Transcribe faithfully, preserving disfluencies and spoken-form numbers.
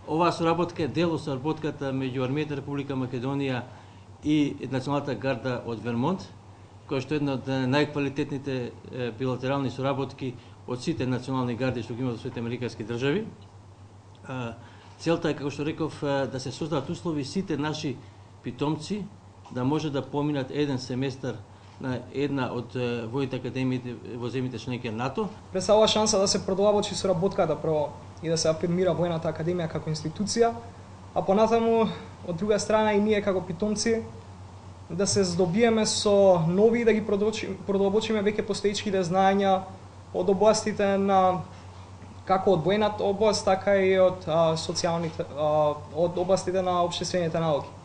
Оваа соработка е дел од соработката меѓу Армијата Република Македонија и Националната гарда од Вермонт, која што е една од најквалитетните билатерални соработки од сите национални гарди што ги имат во Соединетите Американски држави. Целта е, како што реков, да се создадат услови сите наши питомци да може да поминат еден семестар на една од војните академии во земјите членки НАТО. Представува шанса да се продолбочи соработката прво и да се афирмира војната академија како институција, а понатаму од друга страна и ние како питомци да се здобиеме со нови и да ги продолбочиме веќе постоечките знаења од областите на како од војната област, така и од а, социјалните а, од областите на општествените науки.